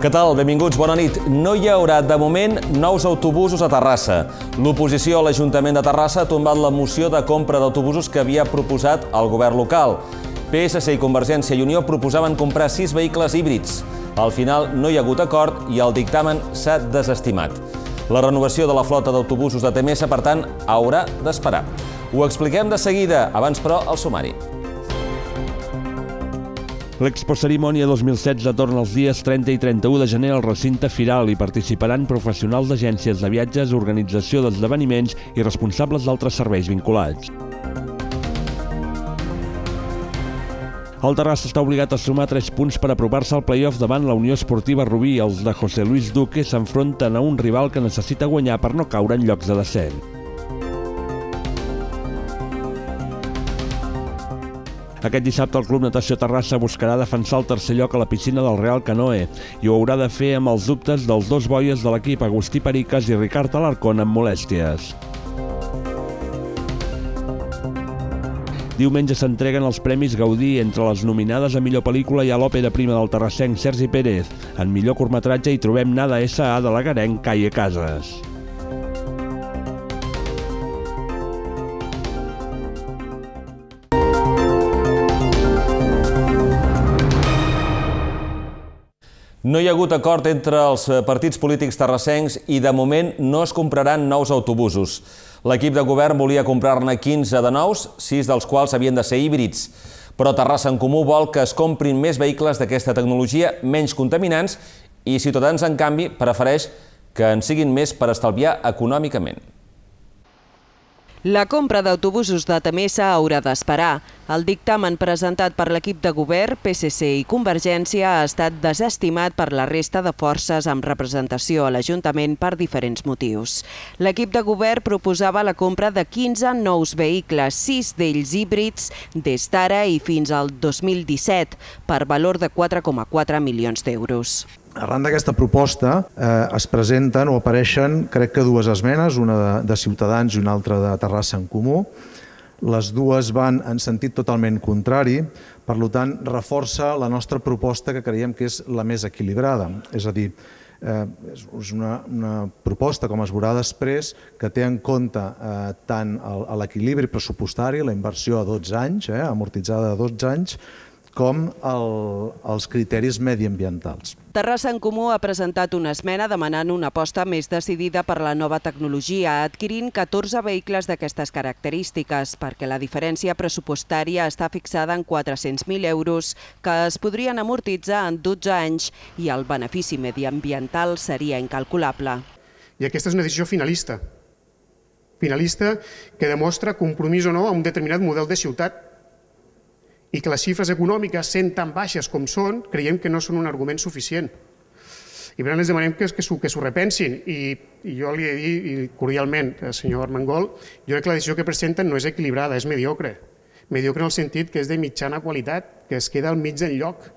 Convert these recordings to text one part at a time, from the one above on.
Què tal? Benvinguts, bona nit. No hi haurà, de moment, nous autobusos a Terrassa. L'oposició a l'Ajuntament de Terrassa ha tombat la moció de compra d'autobusos que havia proposat el govern local. PSC i Convergència i Unió proposaven comprar 6 vehicles híbrids. Al final no hi ha hagut acord i el dictamen s'ha desestimat. La renovació de la flota d'autobusos de TMS, per tant, haurà d'esperar. Ho expliquem de seguida, abans però el sumari. L'Expo Cerimònia 2016 torna els dies 30 i 31 de gener al recinte Firal i participaran professionals d'agències de viatges, organització d'esdeveniments i responsables d'altres serveis vinculats. El Terrassa està obligat a sumar 3 punts per apropar-se al play-off davant la Unió Esportiva Rubí. Els de José Luis Duque s'enfronten a un rival que necessita guanyar per no caure en llocs de descens. Aquest dissabte el Club Natació Terrassa buscarà defensar el tercer lloc a la piscina del Real Canoe i ho haurà de fer amb els dubtes dels 2 boies de l'equip, Agustí Periques i Ricard Alarcón, amb molèsties. Diumenge s'entreguen els Premis Gaudí. Entre les nominades a millor pel·lícula hi ha l'òpera prima del terrassenc Sergi Pérez. En millor curtmetratge hi trobem Nada S.A. de l'agarenc Caie Casas. No hi ha hagut acord entre els partits polítics terrassencs i de moment no es compraran nous autobusos. L'equip de govern volia comprar-ne 15 de nous, 6 dels quals havien de ser híbrids. Però Terrassa en Comú vol que es comprin més vehicles d'aquesta tecnologia, menys contaminants, i Ciutadans, en canvi, prefereix que en siguin més per estalviar econòmicament. La compra d'autobusos de Temesa haurà d'esperar. El dictamen presentat per l'equip de govern, PSC i Convergència ha estat desestimat per la resta de forces amb representació a l'Ajuntament per diferents motius. L'equip de govern proposava la compra de 15 nous vehicles, 6 d'ells híbrids, des d'ara i fins al 2017, per valor de 4,4 milions d'euros. Arran d'aquesta proposta es presenten o apareixen, crec que 2 esmenes, una de Ciutadans i una altra de Terrassa en Comú. Les dues van en sentit totalment contrari, per tant, reforça la nostra proposta, que creiem que és la més equilibrada. És a dir, és una proposta, com es veurà després, que té en compte tant l'equilibri pressupostari, la inversió a 12 anys, amortitzada a 12 anys, com els criteris mediambientals. Terrassa en Comú ha presentat una esmena demanant una aposta més decidida per la nova tecnologia, adquirint 14 vehicles d'aquestes característiques, perquè la diferència pressupostària està fixada en 400.000 euros, que es podrien amortitzar en 12 anys i el benefici mediambiental seria incalculable. I aquesta és una decisió finalista. Finalista que demostra compromís o no a un determinat model de ciutat, i que les xifres econòmiques, sent tan baixes com són, creiem que no són un argument suficient. I per tant, els demanem que s'ho repensin. I jo li he de dir cordialment, senyor Armengol, jo crec que la decisió que presenten no és equilibrada, és mediocre. Mediocre en el sentit que és de mitjana qualitat, que es queda al mig enlloc,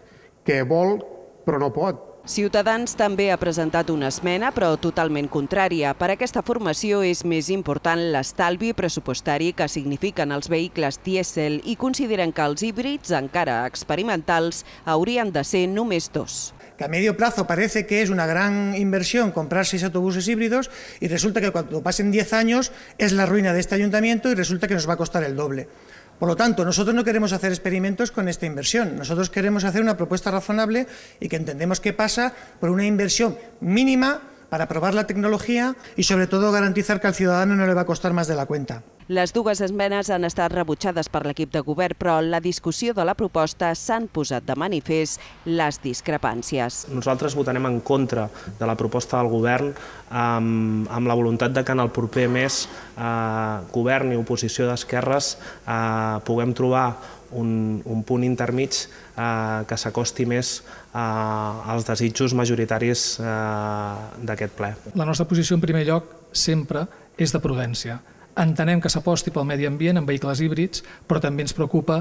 que vol però no pot. Ciutadans també ha presentat una esmena, però totalment contrària. Per aquesta formació és més important l'estalvi pressupostari que signifiquen els vehicles dièsel i consideren que els híbrids, encara experimentals, haurien de ser només 2. Que a medio plazo parece que es una gran inversión comprar 6 autobuses híbridos y resulta que cuando pasen 10 años es la ruina de este ayuntamiento y resulta que nos va a costar el doble. Por lo tanto, nosotros no queremos hacer experimentos con esta inversión. Nosotros queremos hacer una propuesta razonable y que entendemos que pasa por una inversión mínima para probar la tecnología y, sobre todo, garantizar que al ciudadano no le va a costar más de la cuenta. Les 2 esmenes han estat rebutjades per l'equip de govern, però en la discussió de la proposta s'han posat de manifest les discrepàncies. Nosaltres votarem en contra de la proposta del govern amb la voluntat de que en el proper mes govern i oposició d'esquerres puguem trobar un punt intermig que s'acosti més als desitjos majoritaris d'aquest ple. La nostra posició, en primer lloc, sempre és de prudència. Entenem que s'aposti pel medi ambient en vehicles híbrids, però també ens preocupa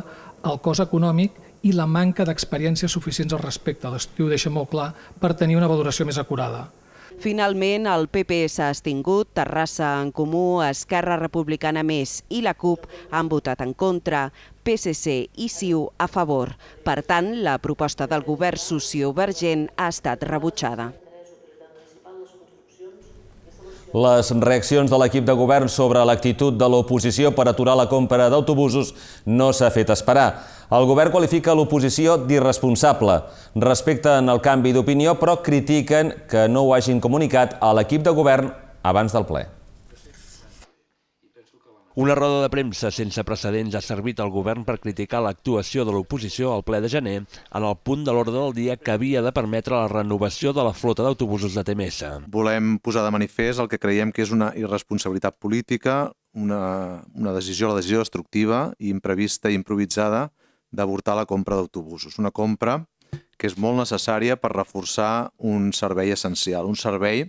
el cost econòmic i la manca d'experiències suficients al respecte. L'estiu ho deixa molt clar per tenir una valoració més acurada. Finalment, el PP s'ha abstingut, Terrassa en Comú, Esquerra Republicana Més i la CUP han votat en contra, PSC i CiU a favor. Per tant, la proposta del govern sociovergent ha estat rebutjada. Les reaccions de l'equip de govern sobre l'actitud de l'oposició per aturar la compra d'autobusos no s'ha fet esperar. El govern qualifica l'oposició d'irresponsable. Respecten el canvi d'opinió, però critiquen que no ho hagin comunicat a l'equip de govern abans del ple. Una roda de premsa sense precedents ha servit al govern per criticar l'actuació de l'oposició al ple de gener en el punt de l'ordre del dia que havia de permetre la renovació de la flota d'autobusos de TMS. Volem posar de manifest el que creiem que és una irresponsabilitat política, la decisió destructiva i imprevista i improvisada d'avortar la compra d'autobusos. Una compra que és molt necessària per reforçar un servei essencial, un servei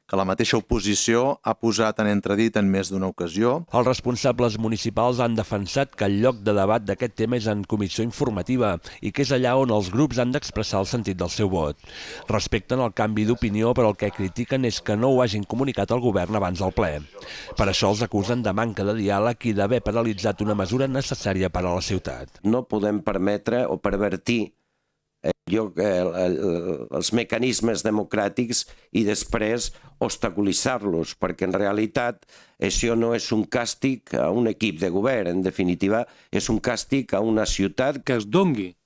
que la mateixa oposició ha posat en entredit en més d'una ocasió. Els responsables municipals han defensat que el lloc de debat d'aquest tema és en comissió informativa i que és allà on els grups han d'expressar el sentit del seu vot. Respecten el canvi d'opinió, però el que critiquen és que no ho hagin comunicat al govern abans del ple. Per això els acusen de manca de diàleg i d'haver paralitzat una mesura necessària per a la ciutat. No podem permetre o pervertir els mecanismes democràtics i després obstaculitzar-los, perquè en realitat això no és un càstig a un equip de govern, en definitiva és un càstig a una ciutat. Que es dongui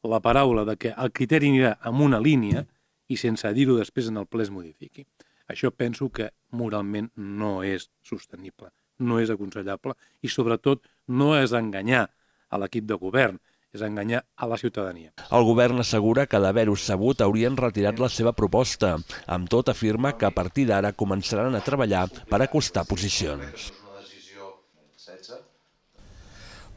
la paraula de que el criteri anirà en una línia i sense dir-ho després en el ple es modifiqui. Això penso que moralment no és sostenible, no és aconsellable i sobretot no és enganyar a l'equip de govern, és enganyar a la ciutadania. El govern assegura que d'haver-ho sabut haurien retirat la seva proposta. Amb tot afirma que a partir d'ara començaran a treballar per acostar posicions.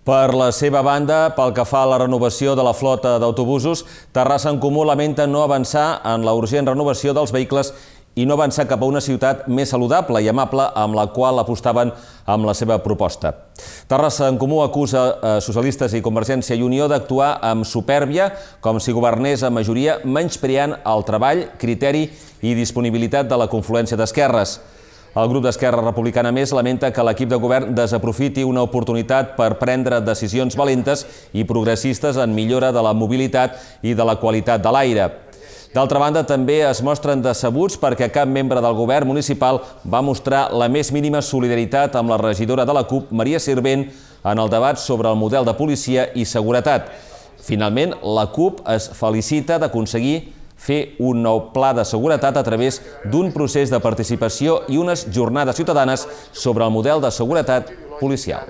Per la seva banda, pel que fa a la renovació de la flota d'autobusos, Terrassa en Comú lamenta no avançar en la urgent renovació dels vehicles i no avançar cap a una ciutat més saludable i amable amb la qual apostaven amb la seva proposta. Terrassa en Comú acusa socialistes i Convergència i Unió d'actuar amb supèrbia, com si governés a majoria, menyspreant el treball, criteri i disponibilitat de la confluència d'esquerres. El grup d'Esquerra Republicana Més lamenta que l'equip de govern desaprofiti una oportunitat per prendre decisions valentes i progressistes en millora de la mobilitat i de la qualitat de l'aire. D'altra banda, també es mostren decebuts perquè cap membre del govern municipal va mostrar la més mínima solidaritat amb la regidora de la CUP, Maria Sirvent, en el debat sobre el model de policia i seguretat. Finalment, la CUP es felicita d'aconseguir fer un nou pla de seguretat a través d'un procés de participació i unes jornades ciutadanes sobre el model de seguretat policial.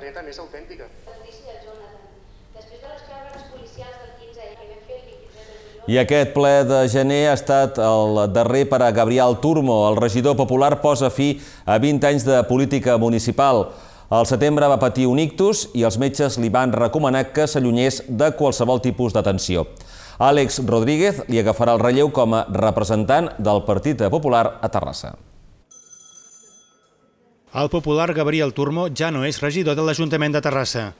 I aquest ple de gener ha estat el darrer per a Gabriel Turmo. El regidor popular posa fi a 20 anys de política municipal. Al setembre va patir un ictus i els metges li van recomanar que s'allunyés de qualsevol tipus d'atenció. Àlex Rodríguez li agafarà el relleu com a representant del Partit Popular a Terrassa. El popular Gabriel Turmo ja no és regidor de l'Ajuntament de Terrassa.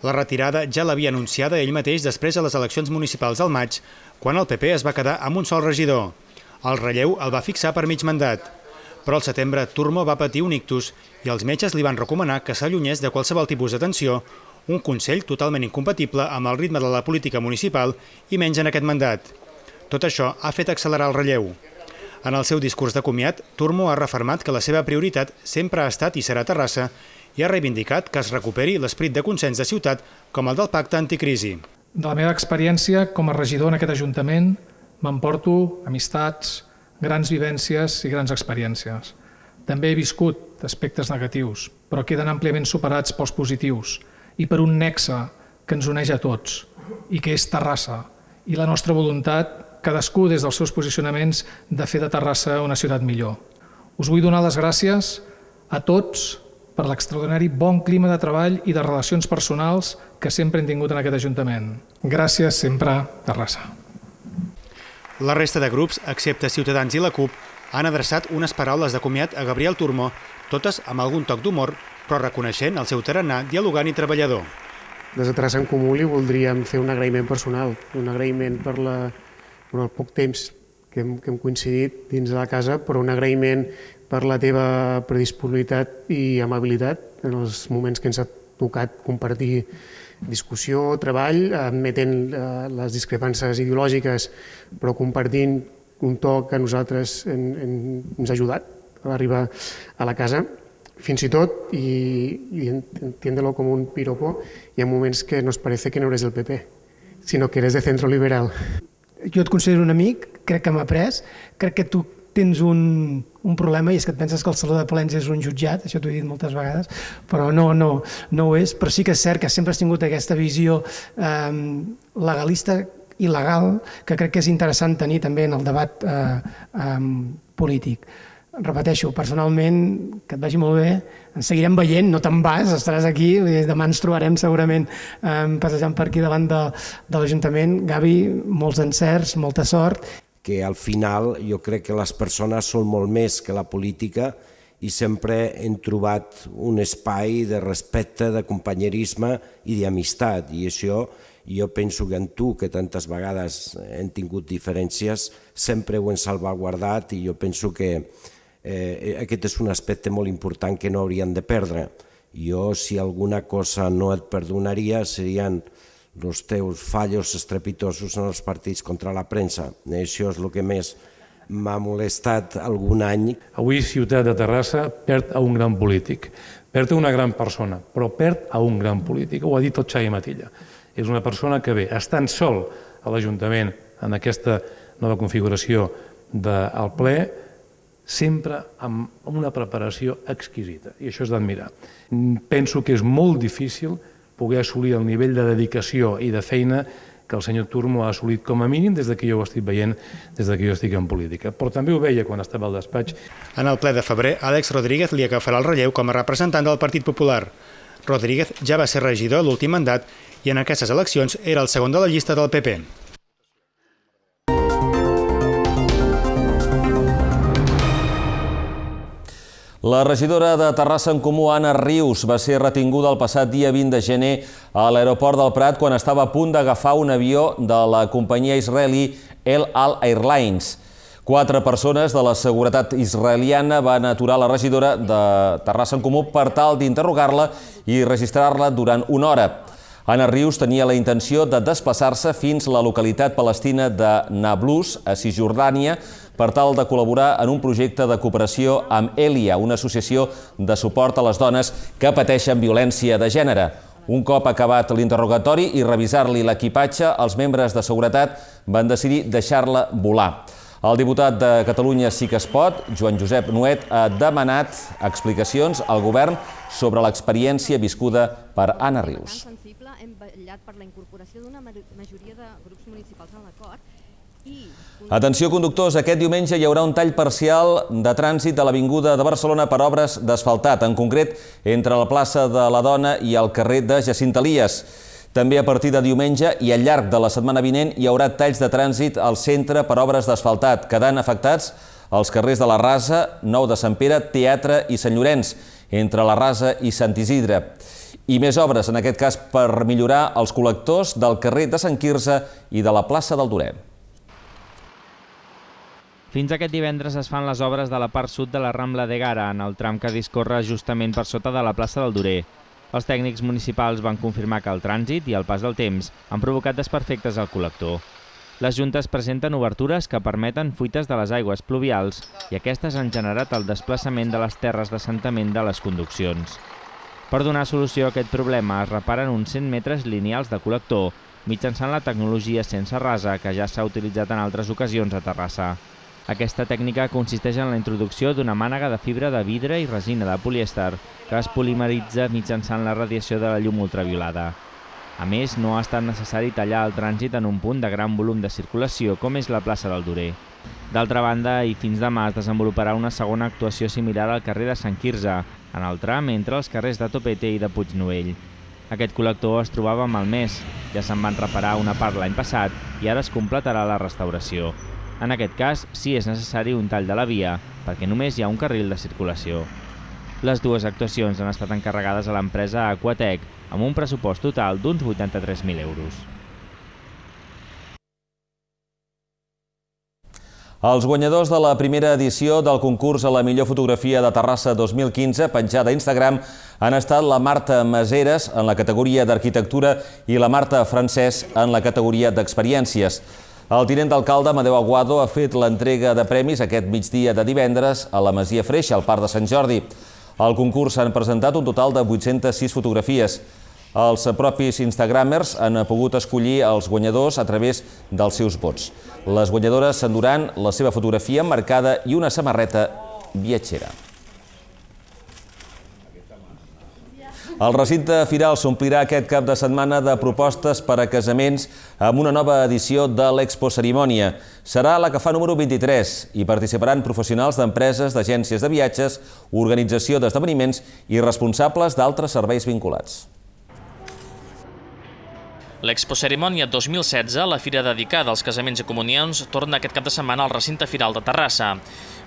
La retirada ja l'havia anunciada ell mateix després de les eleccions municipals del maig, quan el PP es va quedar amb un sol regidor. El relleu el va fixar per mig mandat. Però al setembre Turmo va patir un ictus i els metges li van recomanar que s'allunyés de qualsevol tipus d'atenció, un consell totalment incompatible amb el ritme de la política municipal i menys en aquest mandat. Tot això ha fet accelerar el relleu. En el seu discurs de comiat, Turmo ha refermat que la seva prioritat sempre ha estat i serà Terrassa i ha reivindicat que es recuperi l'esperit de consens de ciutat com el del pacte anticrisi. De la meva experiència com a regidor en aquest Ajuntament m'emporto amistats, grans vivències i grans experiències. També he viscut aspectes negatius, però queden àmpliament superats pels positius i per un nexe que ens uneix a tots i que és Terrassa i la nostra voluntat, cadascú des dels seus posicionaments, de fer de Terrassa una ciutat millor. Us vull donar les gràcies a tots per l'extraordinari bon clima de treball i de relacions personals que sempre hem tingut en aquest Ajuntament. Gràcies sempre, Terrassa. La resta de grups, excepte Ciutadans i la CUP, han adreçat unes paraules de comiat a Gabriel Turmo, totes amb algun toc d'humor, però reconeixent el seu tarannà dialogant i treballador. Des de Terrassa en Comú li voldríem fer un agraïment personal, un agraïment per el poc temps que hem coincidit dins de la casa, però un agraïment per la teva predisponibilitat i amabilitat en els moments que ens ha tocat compartir discussió, treball, admetent les discrepàncies ideològiques, però compartint un to que a nosaltres ens ha ajudat a arribar a la casa. Fins i tot, y entiéndelo como un piropo, hi ha moments que nos parece que no eres del PP, sinó que eres de centro liberal. Jo et considero un amic, crec que m'ha après, crec que tu tens un problema i és que et penses que el Saló de Plens és un jutjat, això t'ho he dit moltes vegades, però no ho és, però sí que és cert que sempre has tingut aquesta visió legalista i legal que crec que és interessant tenir també en el debat polític. Repeteixo, personalment, que et vagi molt bé, ens seguirem veient, no te'n vas, estaràs aquí, demà ens trobarem segurament passejant per aquí davant de l'Ajuntament. Gavi, molts encerts, molta sort. Que al final jo crec que les persones són molt més que la política i sempre hem trobat un espai de respecte, de companyerisme i d'amistat, i això jo penso que en tu, que tantes vegades hem tingut diferències, sempre ho hem salvaguardat i jo penso que aquest és un aspecte molt important que no hauríem de perdre. Jo, si alguna cosa no et perdonaria, serien els teus fallos estrepitosos en els partits contra la premsa. Això és el que més m'ha molestat algun any. Avui Ciutat de Terrassa perd a un gran polític, perd a una gran persona, però perd a un gran polític. Ho ha dit el Xavi Matilla. És una persona que ve estant sol a l'Ajuntament en aquesta nova configuració del ple, sempre amb una preparació exquisita, i això és d'admirar. Penso que és molt difícil poder assolir el nivell de dedicació i de feina que el senyor Turmo ha assolit com a mínim des que jo ho estic veient, des que jo estic en política. Però també ho veia quan estava al despatx. En el ple de febrer, Àlex Rodríguez li agafarà el relleu com a representant del Partit Popular. Rodríguez ja va ser regidor l'últim mandat i en aquestes eleccions era el segon de la llista del PP. La regidora de Terrassa en Comú, Anna Rius, va ser retinguda el passat dia 20 de gener a l'aeroport del Prat quan estava a punt d'agafar un avió de la companyia israelí El Al Airlines. 4 persones de la seguretat israeliana van aturar la regidora de Terrassa en Comú per tal d'interrogar-la i registrar-la durant una hora. Anna Rius tenia la intenció de desplaçar-se fins a la localitat palestina de Nablus, a Cisjordània, per tal de col·laborar en un projecte de cooperació amb Elia, una associació de suport a les dones que pateixen violència de gènere. Un cop acabat l'interrogatori i revisar-li l'equipatge, els membres de seguretat van decidir deixar-la volar. El diputat de Catalunya Sí que es pot, Joan Josep Nuet, ha demanat explicacions al govern sobre l'experiència viscuda per Anna Rius. Hem vetllat per la incorporació d'una majoria de grups municipals en l'acord. Atenció, conductors, aquest diumenge hi haurà un tall parcial de trànsit a l'Avinguda de Barcelona per obres d'asfaltat, en concret entre la plaça de la Dona i el carrer de Jacint Elies. També a partir de diumenge i al llarg de la setmana vinent hi haurà talls de trànsit al centre per obres d'asfaltat, quedant afectats els carrers de la Rasa, Nou de Sant Pere, Teatre i Sant Llorenç, entre la Rasa i Sant Isidre. I més obres, en aquest cas per millorar els col·lectors del carrer de Sant Quirze i de la plaça del Duret. Fins aquest divendres es fan les obres de la part sud de la Rambla de Gara, en el tram que discorre justament per sota de la plaça del Durer. Els tècnics municipals van confirmar que el trànsit i el pas del temps han provocat desperfectes al col·lector. Les juntes presenten obertures que permeten fuites de les aigües pluvials i aquestes han generat el desplaçament de les terres d'assentament de les conduccions. Per donar solució a aquest problema es reparen uns 100 metres lineals de col·lector mitjançant la tecnologia sense rasa que ja s'ha utilitzat en altres ocasions a Terrassa. Aquesta tècnica consisteix en la introducció d'una mànega de fibra de vidre i resina de polièster que es polimeritza mitjançant la radiació de la llum ultraviolada. A més, no ha estat necessari tallar el trànsit en un punt de gran volum de circulació com és la plaça del Durer. D'altra banda, i fins demà es desenvoluparà una segona actuació similar al carrer de Sant Quirze, en el tram entre els carrers de Topete i de Puignovell. Aquest col·lector es trobava malmès, ja se'n van reparar una part l'any passat i ara es completarà la restauració. En aquest cas, sí és necessari un tall de la via, perquè només hi ha un carril de circulació. Les dues actuacions han estat encarregades a l'empresa Aquatec, amb un pressupost total d'uns 83.000 euros. Els guanyadors de la primera edició del concurs a la millor fotografia de Terrassa 2015, penjada a Instagram, han estat la Marta Maseres en la categoria d'arquitectura i la Marta Francès en la categoria d'experiències. El tinent d'alcalde, Amadeu Aguado, ha fet l'entrega de premis aquest migdia de divendres a la Masia Freixa, al Parc de Sant Jordi. Al concurs s'han presentat un total de 806 fotografies. Els propis instagramers han pogut escollir els guanyadors a través dels seus vots. Les guanyadores s'enduran la seva fotografia emmarcada i una samarreta viatgera. El recinte firal s'omplirà aquest cap de setmana de propostes per a casaments amb una nova edició de l'Expo Cerimònia. Serà la que fa número 23 i participaran professionals d'empreses, d'agències de viatges, organització d'esdeveniments i responsables d'altres serveis vinculats. L'Expo Cerimònia 2016, la fira dedicada als casaments i comunions, torna aquest cap de setmana al recinte firal de Terrassa.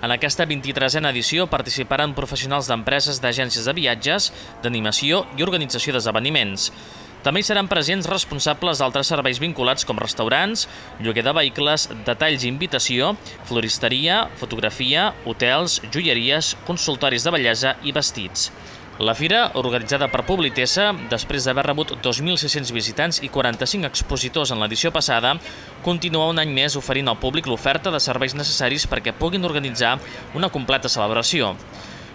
En aquesta 23a edició participaran professionals d'empreses, d'agències de viatges, d'animació i organització d'esdeveniments. També hi seran presents responsables d'altres serveis vinculats com restaurants, lloguer de vehicles, detalls i invitació, floristeria, fotografia, hotels, joieries, consultoris de bellesa i vestits. La fira, organitzada per Publitesa, després d'haver rebut 2.600 visitants i 45 expositors en l'edició passada, continua un any més oferint al públic l'oferta de serveis necessaris perquè puguin organitzar una completa celebració.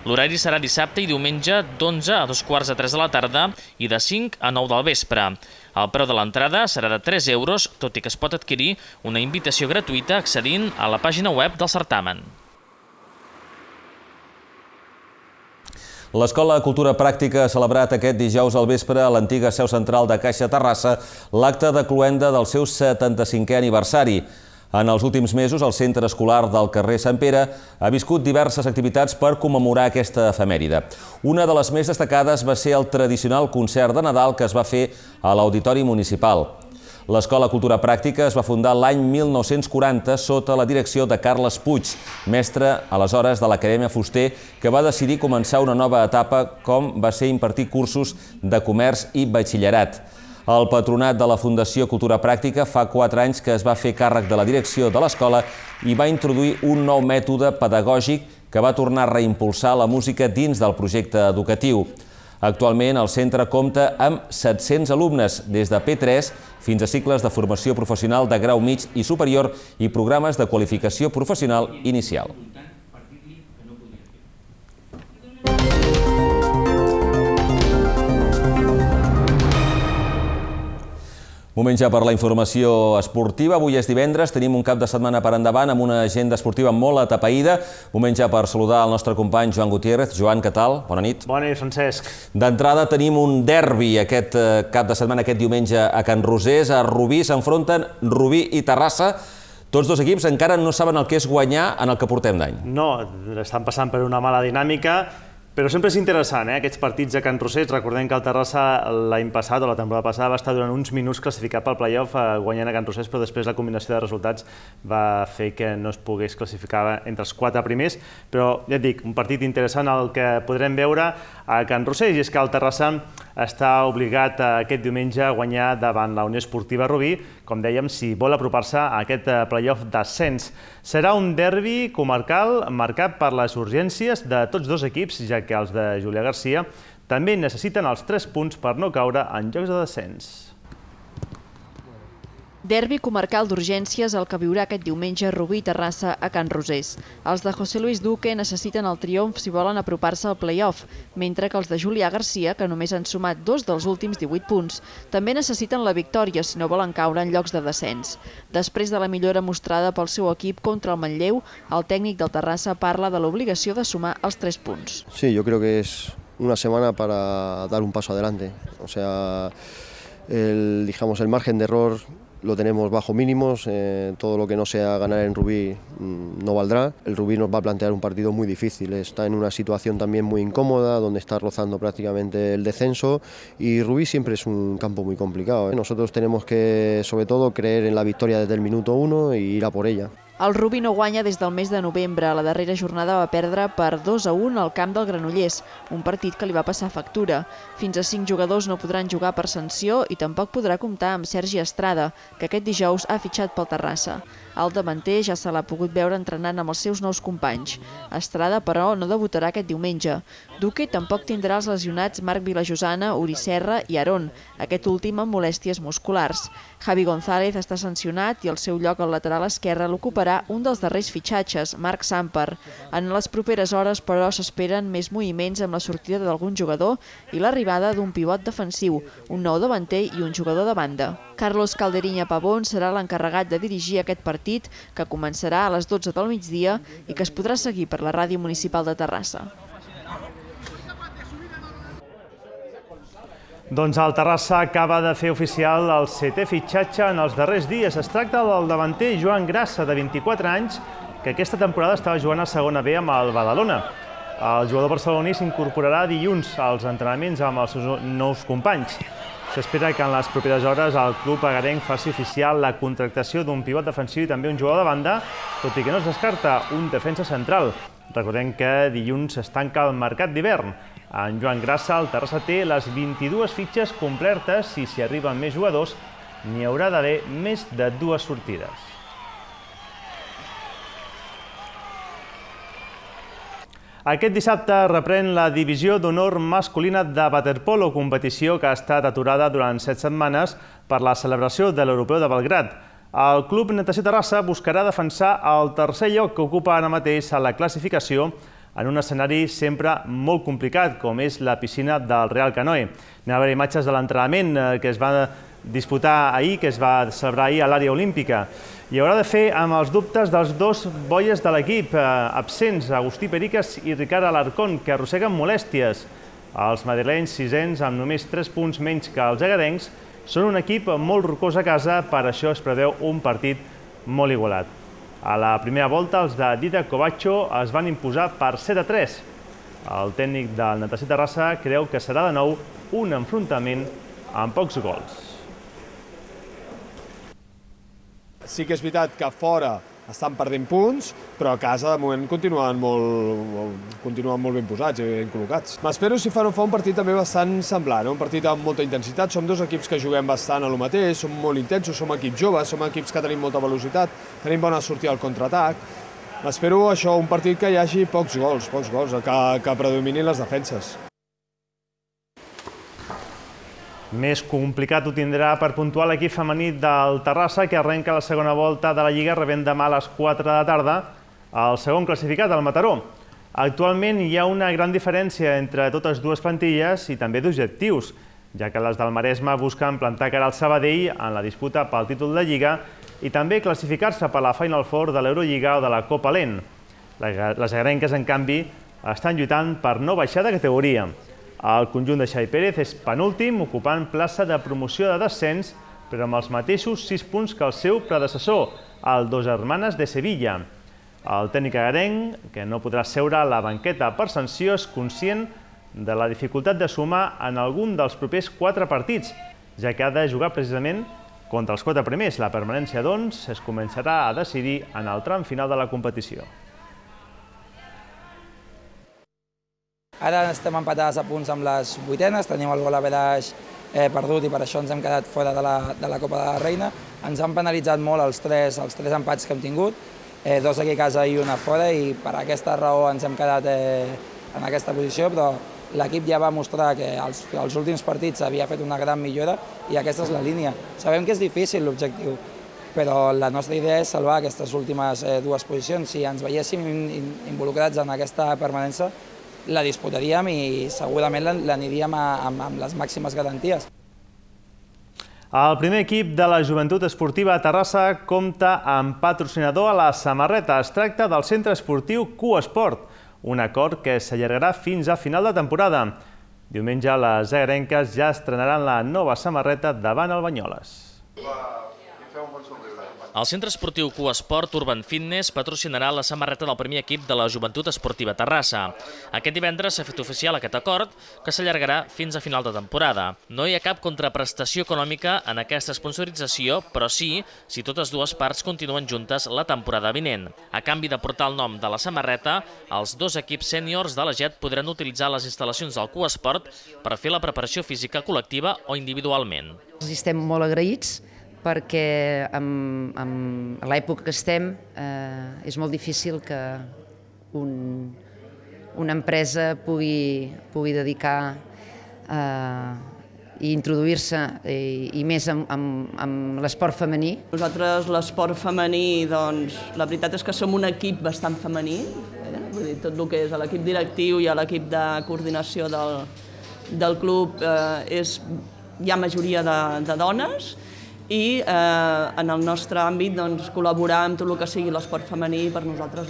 L'horari serà dissabte i diumenge d'11 a 2:15 de la tarda i de 5 a 9 del vespre. El preu de l'entrada serà de 3 euros, tot i que es pot adquirir una invitació gratuïta accedint a la pàgina web del certamen. L'Escola Cultura Pràctica ha celebrat aquest dijous al vespre a l'antiga seu central de Caixa Terrassa l'acte de cloenda del seu 75è aniversari. En els últims mesos, el centre escolar del carrer Sant Pere ha viscut diverses activitats per commemorar aquesta efemèride. Una de les més destacades va ser el tradicional concert de Nadal que es va fer a l'Auditori Municipal. L'Escola Cultura Pràctica es va fundar l'any 1940 sota la direcció de Carles Puig, mestre aleshores de l'Acadèmia Fuster, que va decidir començar una nova etapa com va ser impartir cursos de comerç i batxillerat. El patronat de la Fundació Cultura Pràctica fa 4 anys que es va fer càrrec de la direcció de l'escola i va introduir un nou mètode pedagògic que va tornar a reimpulsar la música dins del projecte educatiu. Actualment, el centre compta amb 700 alumnes, des de P3 fins a cicles de formació professional de grau mig i superior i programes de qualificació professional inicial. Moment ja per la informació esportiva. Avui és divendres, tenim un cap de setmana per endavant amb una agenda esportiva molt atapeïda. Moment ja per saludar el nostre company Joan Gutiérrez. Joan, què tal? Bona nit. Bona nit, Francesc. D'entrada tenim un derbi aquest cap de setmana, aquest diumenge a Can Rosés. A Rubí s'enfronten Rubí i Terrassa. Tots dos equips encara no saben el que és guanyar en el que portem d'any. No, estan passant per una mala dinàmica. Però sempre és interessant, aquests partits a Can Rosés. Recordem que el Terrassa l'any passat o la temporada passada va estar durant uns minuts classificat pel play-off guanyant a Can Rosés, però després la combinació de resultats va fer que no es pogués classificar entre els 4 primers. Però ja et dic, un partit interessant el que podrem veure a Can Rosés, i és que el Terrassa està obligat aquest diumenge a guanyar davant la Unió Esportiva Rubí, com dèiem, si vol apropar-se a aquest play-off d'ascens. Serà un derbi comarcal marcat per les urgències de tots dos equips, ja que els de Julià Garcia també necessiten els 3 punts per no caure en jocs de descens. Derbi comarcal d'urgències el que viurà aquest diumenge Rubí i Terrassa a Can Rosés. Els de José Luis Duque necessiten el triomf si volen apropar-se al play-off, mentre que els de Julià Garcia, que només han sumat 2 dels últims 18 punts, també necessiten la victòria si no volen caure en llocs de descens. Després de la millora mostrada pel seu equip contra el Manlleu, el tècnic del Terrassa parla de l'obligació de sumar els 3 punts. Sí, yo creo que es una semana para dar un paso adelante. O sea, el margen de error lo tenemos bajo mínimos, todo lo que no sea ganar en Rubí no valdrá. El Rubí nos va a plantear un partido muy difícil, está en una situación también muy incómoda, donde está rozando prácticamente el descenso, y Rubí siempre es un campo muy complicado. Nosotros tenemos que, sobre todo, creer en la victoria desde el minuto 1 y ir a por ella. El Rubí no guanya des del mes de novembre. La darrera jornada va perdre per 2-1 al camp del Granollers, un partit que li va passar factura. Fins a 5 jugadors no podran jugar per sanció i tampoc podrà comptar amb Sergi Estrada, que aquest dijous ha fitxat pel Terrassa. El davanter ja se l'ha pogut veure entrenant amb els seus nous companys. Estrada, però, no debutarà aquest diumenge. Duque tampoc tindrà els lesionats Marc Vilajosana, Uri Serra i Aarón, aquest últim amb molèsties musculars. Javi González està sancionat i el seu lloc al lateral esquerre l'ocuparà un dels darrers fitxatges, Marc Samper. En les properes hores, però, s'esperen més moviments amb la sortida d'algun jugador i l'arribada d'un pivot defensiu, un nou davanter i un jugador de banda. Carlos Calderiña Pavón serà l'encarregat de dirigir aquest partit, que començarà a les 12 del migdia i que es podrà seguir per la ràdio municipal de Terrassa. Doncs el Terrassa acaba de fer oficial el 7è fitxatge en els darrers dies. Es tracta del davanter Joan Grassa, de 24 anys, que aquesta temporada estava jugant a segona B amb el Badalona. El jugador barceloní s'incorporarà dilluns als entrenaments amb els seus nous companys. S'espera que en les properes hores el club agarenc faci oficial la contractació d'un pivot defensiu i també un jugador de banda, tot i que no es descarta un defensa central. Recordem que dilluns es tanca el mercat d'hivern. En Joan Grassa, el Terrassa té les 22 fitxes complertes i si arriben més jugadors n'hi haurà d'haver més de 2 sortides. Aquest dissabte reprèn la divisió d'honor masculina de waterpolo, competició que ha estat aturada durant 7 setmanes per la celebració de l'Europeu de Belgrad. El Club Natació Terrassa buscarà defensar el 3è lloc que ocupa ara mateix a la classificació en un escenari sempre molt complicat, com és la piscina del Real Canoe. N'hi va haver imatges de l'entrenament que es va disputar ahir, que es va celebrar ahir a l'àrea olímpica. I haurà de fer amb els dubtes dels 2 boies de l'equip absents, Agustí Periques i Ricard Alarcón, que arrosseguen molèsties. Els madrilenys, 6ens, amb només 3 punts menys que els agarencs, són un equip molt rocós a casa, per això es preveu un partit molt igualat. A la primera volta, els de Dida Covacho es van imposar per 7-3. El tècnic del Natació Terrassa creu que serà de nou un enfrontament amb pocs gols. Sí que és veritat que fora estan perdent punts, però a casa de moment continuen molt ben posats i ben col·locats. M'espero si fa un partit també bastant semblant, un partit amb molta intensitat. Som 2 equips que juguem bastant a lo mateix, som molt intensos, som equips joves, som equips que tenim molta velocitat, tenim bona sortida al contraatac. M'espero això, un partit que hi hagi pocs gols, que predominin les defenses. Més complicat ho tindrà per puntuar l'equip femení del Terrassa, que arrenca la segona volta de la Lliga rebent demà a les 4 de la tarda el segon classificat, el Mataró. Actualment hi ha una gran diferència entre totes 2 plantilles i també d'objectius, ja que les del Maresme busquen plantar cara al Sabadell en la disputa pel títol de Lliga i també classificar-se per la Final Four de l'Eurolliga o de la Copa Lent. Les agarenques, en canvi, estan lluitant per no baixar de categoria. El conjunt de Xavi Pérez és penúltim, ocupant plaça de promoció de descens, però amb els mateixos 6 punts que el seu predecessor, el Dos Hermanes de Sevilla. El tècnic agarenc, que no podrà seure a la banqueta per sanció, és conscient de la dificultat de sumar en algun dels propers 4 partits, ja que ha de jugar precisament contra els 4 primers. La permanència, doncs, es començarà a decidir en el tram final de la competició. Ara estem empatats a punts amb les 8enes, tenim el gol average perdut i per això ens hem quedat fora de la Copa de la Reina. Ens han penalitzat molt els tres empats que hem tingut, 2 aquí a casa i 1 fora, i per aquesta raó ens hem quedat en aquesta posició, però l'equip ja va mostrar que als últims partits havia fet una gran millora i aquesta és la línia. Sabem que és difícil l'objectiu, però la nostra idea és salvar aquestes últimes 2 posicions. Si ens veiéssim involucrats en aquesta permanència, la disputaríem i segurament l'aniríem amb les màximes garanties. El primer equip de la Joventut Esportiva a Terrassa compta amb patrocinador a la samarreta. Es tracta del centre esportiu Q-Esport, un acord que s'allargarà fins a final de temporada. Diumenge les agarenques ja estrenaran la nova samarreta davant el Banyoles. El Centre Esportiu Cuesport Urban Fitness patrocinarà la samarreta del primer equip de la Joventut Esportiva Terrassa. Aquest divendres s'ha fet oficial aquest acord, que s'allargarà fins a final de temporada. No hi ha cap contraprestació econòmica en aquesta sponsorització, però sí si totes dues parts continuen juntes la temporada vinent. A canvi de portar el nom de la samarreta, els dos equips sèniors de la GET podran utilitzar les instal·lacions del Cuesport per fer la preparació física col·lectiva o individualment. Estem molt agraïts perquè en l'època que estem és molt difícil que una empresa pugui dedicar i introduir-se i més amb l'esport femení. Nosaltres l'esport femení, doncs, la veritat és que som un equip bastant femení, vull dir, tot el que és l'equip directiu i l'equip de coordinació del club hi ha majoria de dones, i en el nostre àmbit col·laborar amb tot el que sigui l'esport femení per nosaltres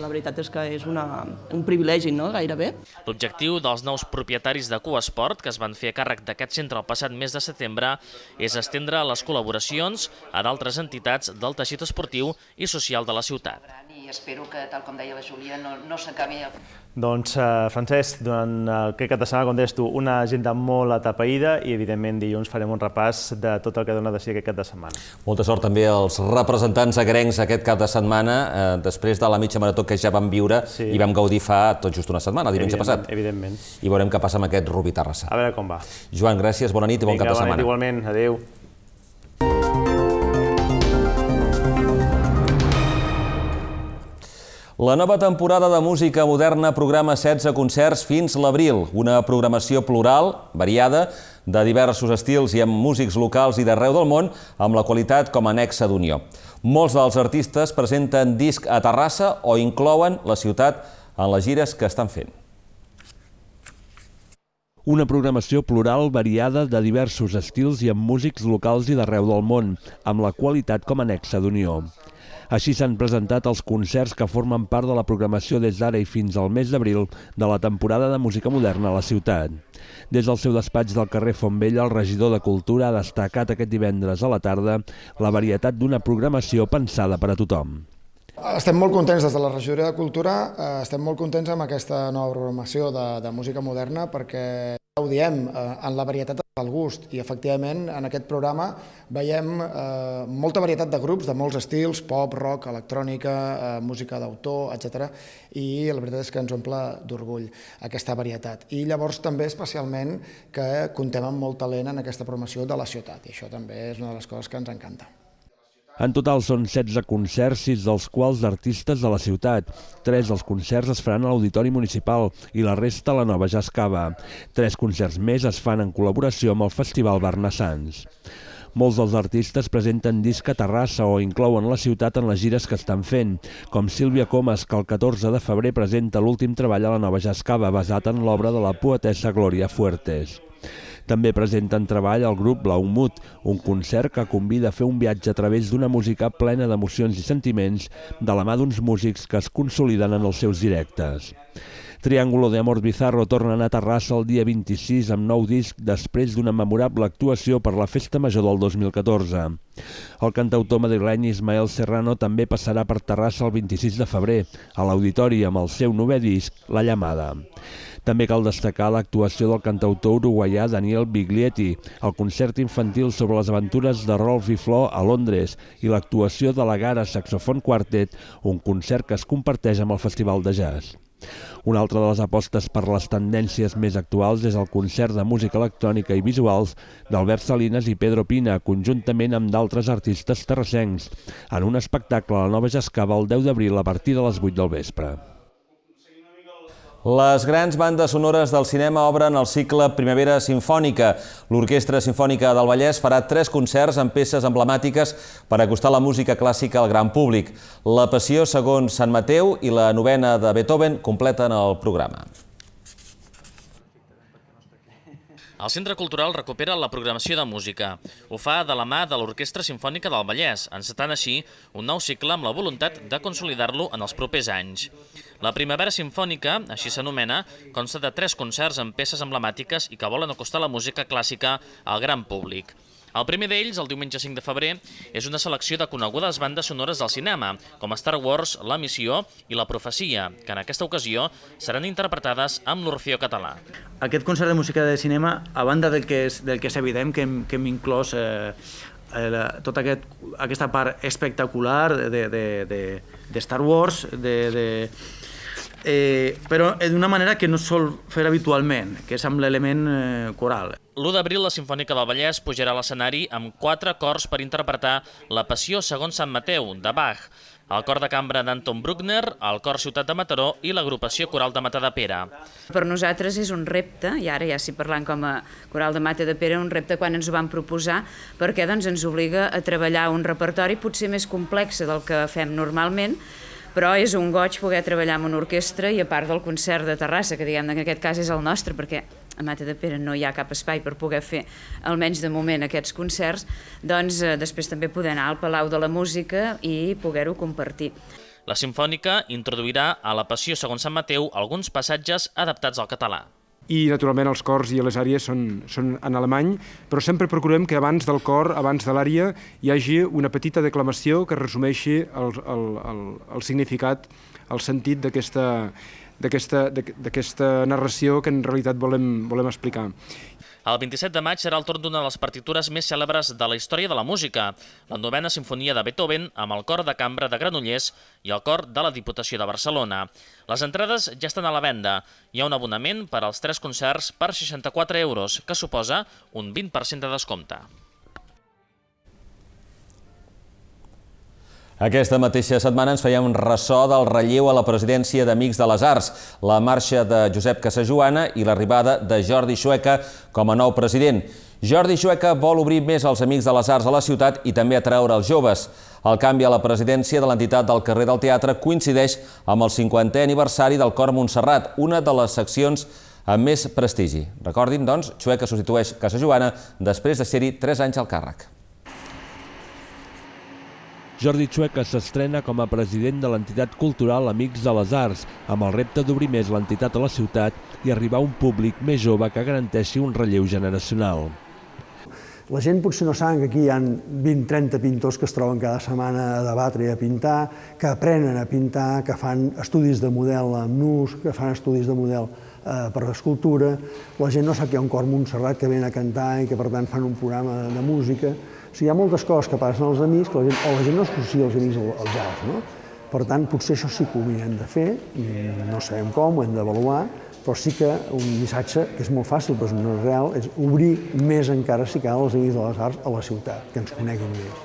la veritat és que és un privilegi, gairebé. L'objectiu dels nous propietaris de Cuesport, que es van fer a càrrec d'aquest centre el passat mes de setembre, és estendre les col·laboracions a d'altres entitats del teixit esportiu i social de la ciutat. I espero que, tal com deia la Júlia, no s'acabi. Doncs, Francesc, durant aquest cap de setmana, com deies tu, una agenda molt atapeïda i, evidentment, dilluns farem un repàs de tot el que dona de si aquest cap de setmana. Molta sort també als representants agrencs aquest cap de setmana, després de la mitja marató que ja vam viure i vam gaudir fa tot just una setmana, diumenge passat. Evidentment. I veurem què passa amb aquest Rubí Terrassa. A veure com va. Joan, gràcies, bona nit i bon cap de setmana. Vinga, bona nit, igualment. Adéu. La nova temporada de música moderna programa 16 concerts fins l'abril, una programació plural, variada, de diversos estils i amb músics locals i d'arreu del món, amb la qualitat com a nexe d'unió. Molts dels artistes presenten disc a Terrassa o inclouen la ciutat en les gires que estan fent. Una programació plural, variada, de diversos estils i amb músics locals i d'arreu del món, amb la qualitat com a nexe d'unió. Així s'han presentat els concerts que formen part de la programació des d'ara i fins al mes d'abril de la temporada de música moderna a la ciutat. Des del seu despatx del carrer Fontvella, el regidor de Cultura ha destacat aquest divendres a la tarda la varietat d'una programació pensada per a tothom. Estem molt contents des de la regidoria de Cultura, estem molt contents amb aquesta nova programació de música moderna perquè ho diem, en la varietat del gust i efectivament en aquest programa veiem molta varietat de grups de molts estils, pop, rock, electrònica, música d'autor, etc. I la veritat és que ens omple d'orgull aquesta varietat. I llavors també especialment que comptem amb molt talent en aquesta programació de la ciutat i això també és una de les coses que ens encanta. En total són 16 concerts, 6 dels quals d'artistes de la ciutat. 3 dels concerts es faran a l'Auditori Municipal i la resta a la Nova Jascava. 3 concerts més es fan en col·laboració amb el Festival Barnassans. Molts dels artistes presenten disc a Terrassa o inclouen la ciutat en les gires que estan fent, com Sílvia Comas, que el 14 de febrer presenta l'últim treball a la Nova Jascava, basat en l'obra de la poetessa Glòria Fuertes. També presenten treball al grup Blaumut, un concert que convida a fer un viatge a través d'una música plena d'emocions i sentiments de la mà d'uns músics que es consoliden en els seus directes. Triángulo de Amor Bizarro tornen a Terrassa el dia 26 amb nou disc després d'una memorable actuació per la Festa Major del 2014. El cantautor madrileny Ismael Serrano també passarà per Terrassa el 26 de febrer, a l'Auditori amb el seu novè disc, La Llamada. També cal destacar l'actuació del cantautor uruguaià Daniel Biglietti, el concert infantil sobre les aventures de Rolf i Flor a Londres i l'actuació de la Gara Saxofon Quartet, un concert que es comparteix amb el Festival de Jazz. Una altra de les apostes per les tendències més actuals és el concert de música electrònica i visuals d'Albert Salinas i Pedro Pina, conjuntament amb d'altres artistes terrassencs, en un espectacle a la Nova Jascava el 10 d'abril a partir de les 8 del vespre. Les grans bandes sonores del cinema obren el cicle Primavera Simfònica. L'Orquestra Simfònica del Vallès farà 3 concerts amb peces emblemàtiques per acostar la música clàssica al gran públic. La Passió segons Sant Mateu i la novena de Beethoven completen el programa. El Centre Cultural recupera la programació de música. Ho fa de la mà de l'Orquestra Simfònica del Vallès, encetant així un nou cicle amb la voluntat de consolidar-lo en els propers anys. La Primavera Simfònica, així s'anomena, consta de 3 concerts amb peces emblemàtiques i que volen acostar la música clàssica al gran públic. El primer d'ells, el diumenge 5 de febrer, és una selecció de conegudes bandes sonores del cinema, com Star Wars, La Missió i La Profecia, que en aquesta ocasió seran interpretades amb l'Orfeó Català. Aquest concert de música de cinema, a banda del que és evident que hem inclòs tota aquesta part espectacular de Star Wars, però d'una manera que no es sol fer habitualment, que és amb l'element coral. L'1 d'abril, la Simfònica del Vallès pujarà a l'escenari amb 4 cors per interpretar La Passió segons Sant Mateu, de Bach, el cor de cambra d'Anton Bruckner, el cor Ciutat de Mataró i l'agrupació coral de Matadepera. Per nosaltres és un repte, i ara ja si parlant com a coral de Matadepera, un repte quan ens ho vam proposar, perquè ens obliga a treballar un repertori potser més complex del que fem normalment, però és un goig poder treballar amb una orquestra i a part del concert de Terrassa, que diguem que en aquest cas és el nostre, perquè a Matadepera no hi ha cap espai per poder fer, almenys de moment, aquests concerts, doncs després també poder anar al Palau de la Música i poder-ho compartir. La Simfònica introduirà a La Passió segons Sant Mateu alguns passatges adaptats al català. I, naturalment, els cors i les àries són en alemany, però sempre procurem que abans del cor, abans de l'ària, hi hagi una petita declamació que resumeixi el significat, el sentit d'aquesta narració que en realitat volem explicar. El 27 de maig serà el torn d'una de les partitures més cèlebres de la història de la música, la 9a Simfonia de Beethoven amb el cor de cambra de Granollers i el cor de la Diputació de Barcelona. Les entrades ja estan a la venda. Hi ha un abonament per als 3 concerts per 64 €, que suposa un 20% de descompte. Aquesta mateixa setmana ens fèiem ressò del relleu a la presidència d'Amics de les Arts, la marxa de Josep Casajoana i l'arribada de Jordi Xueca com a nou president. Jordi Xueca vol obrir més els Amics de les Arts a la ciutat i també atraure els joves. El canvi a la presidència de l'entitat del carrer del Teatre coincideix amb el 50è aniversari del Cor Montserrat, una de les seccions amb més prestigi. Recordin, doncs, Xueca substitueix Casajoana després de ser-hi 3 anys al càrrec. Jordi Xueca s'estrena com a president de l'entitat cultural Amics de les Arts, amb el repte d'obrir més l'entitat a la ciutat i arribar a un públic més jove que garanteixi un relleu generacional. La gent potser no saben que aquí hi ha 20-30 pintors que es troben cada setmana a debatre i a pintar, que aprenen a pintar, que fan estudis de model amb nus, que fan estudis de model per escultura. La gent no sap que hi ha un cor Montserrat que ven a cantar i que per tant fan un programa de música. O sigui, hi ha moltes coses que passen als amics, o la gent no associa els amics als altres, no? Per tant, potser això sí que ho hem de fer, no sabem com, ho hem d'avaluar, però sí que un missatge que és molt fàcil, però no és real, és obrir més encara, si cal, els Amics de les Arts a la ciutat, que ens coneguin més.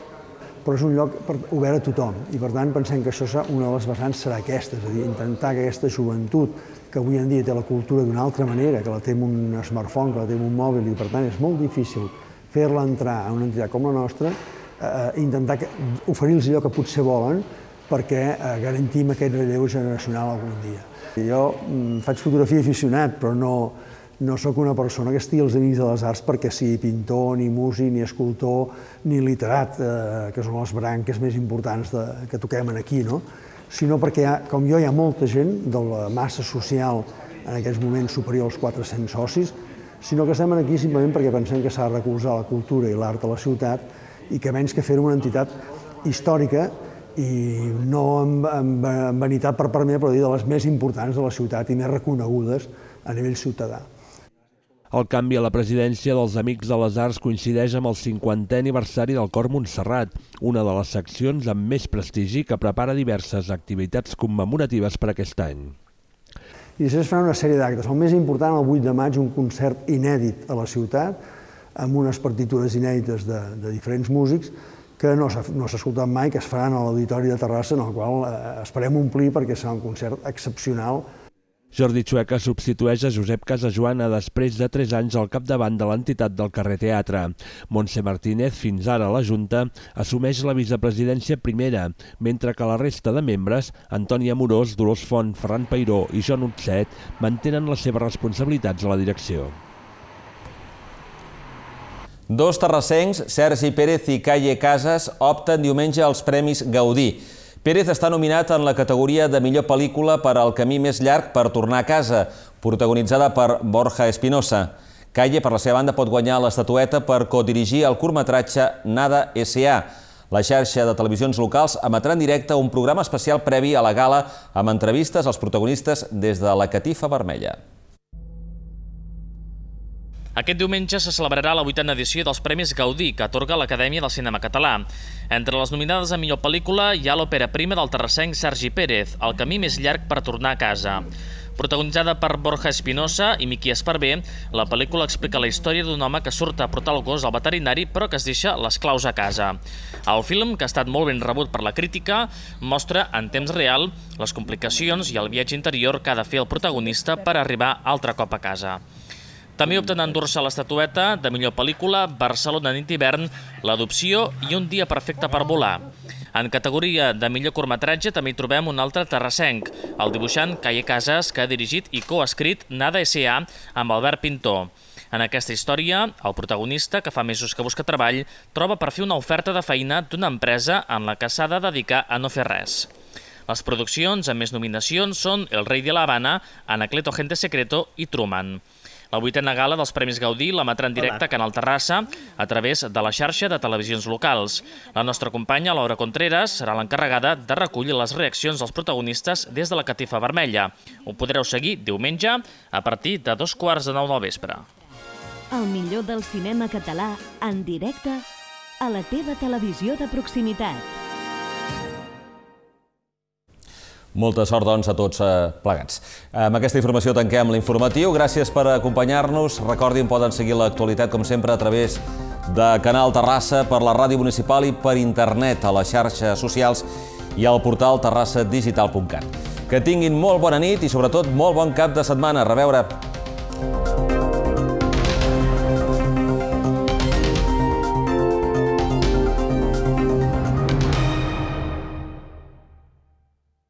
Però és un lloc obert a tothom i, per tant, pensem que una de les vessants serà aquesta, és a dir, intentar que aquesta joventut, que avui en dia té la cultura d'una altra manera, que la té amb un smartphone, que la té amb un mòbil i, per tant, és molt difícil fer-la entrar a una entitat com la nostra, intentar oferir-los allò que potser volen perquè garantim aquest relleu generacional algun dia. Jo faig fotografia aficionat, però no sóc una persona que estigui als Amics de les Arts perquè sigui pintor, ni músic, ni escultor, ni literat, que són les branques més importants que toquem aquí, sinó perquè, com jo, hi ha molta gent de la massa social en aquests moments superior als 400 socis, sinó que estem aquí simplement perquè pensem que s'ha de recolzar la cultura i l'art a la ciutat i que menys que fer una entitat històrica i no amb vanitat per part meva, però dir de les més importants de la ciutat i més reconegudes a nivell ciutadà. El canvi a la presidència dels Amics de les Arts coincideix amb el 50è aniversari del Cor Montserrat, una de les seccions amb més prestigi que prepara diverses activitats commemoratives per aquest any. I després faran una sèrie d'actes. El més important, el 8 de maig, un concert inèdit a la ciutat, amb unes partitures inèdites de diferents músics que no s'ha escoltat mai, que es faran a l'Auditori de Terrassa, en el qual esperem omplir perquè serà un concert excepcional. Jordi Xueca substitueix a Josep Casajoana després de 3 anys al capdavant de l'entitat del carrer Teatre. Montse Martínez, fins ara a la Junta, assumeix la vicepresidència primera, mentre que la resta de membres, Antoni Amorós, Dolors Font, Ferran Peiró i Joan Utset, mantenen les seves responsabilitats a la direcció. 2 terrassencs, Sergi Pérez i Calle Casas, opten diumenge als Premis Gaudí. Pérez està nominat en la categoria de millor pel·lícula per El camí més llarg per tornar a casa, protagonitzada per Borja Espinosa. Calle, per la seva banda, pot guanyar l'estatueta per codirigir el curtmetratge Nada S.A. La xarxa de televisions locals emetrà en directe un programa especial previ a la gala amb entrevistes als protagonistes des de la Catifa Vermella. Aquest diumenge se celebrarà la 8a edició dels Premis Gaudí, que atorga l'Acadèmia del Cinema Català. Entre les nominades a millor pel·lícula hi ha l'òpera prima del terrassenc Sergi Pérez, El camí més llarg per tornar a casa. Protagonitzada per Borja Espinosa i Miqui Esparver, la pel·lícula explica la història d'un home que surt a portar el gos al veterinari però que es deixa les claus a casa. El film, que ha estat molt ben rebut per la crítica, mostra en temps real les complicacions i el viatge interior que ha de fer el protagonista per arribar altre cop a casa. També opten a endur-se l'estatueta de millor pel·lícula Barcelona nit d'hivern, L'adopció i Un dia perfecte per volar. En categoria de millor curtmetratge també hi trobem un altre terrassenc, el dibuixant Calle Casas, que ha dirigit i coescrit Nada S.A. amb Albert Pintor. En aquesta història, el protagonista, que fa mesos que busca treball, troba per fer una oferta de feina d'una empresa en la que s'ha de dedicar a no fer res. Les produccions amb més nominacions són El rei de la Habana, Anacleto Agente Secreto i Truman. La 8a gala dels Premis Gaudí l'emetrà en directe a Canal Terrassa a través de la xarxa de televisions locals. La nostra companya, Laura Contreras, serà l'encarregada de recollir les reaccions dels protagonistes des de la Catifa Vermella. Ho podreu seguir diumenge a partir de 8:45 del vespre. El millor del cinema català en directe a la teva televisió de proximitat. Molta sort, doncs, a tots plegats. Amb aquesta informació tanquem l'informatiu. Gràcies per acompanyar-nos. Recordin, poden seguir l'actualitat, com sempre, a través de Canal Terrassa, per la ràdio municipal i per internet, a les xarxes socials i al portal terrassadigital.cat. Que tinguin molt bona nit i, sobretot, molt bon cap de setmana. A reveure!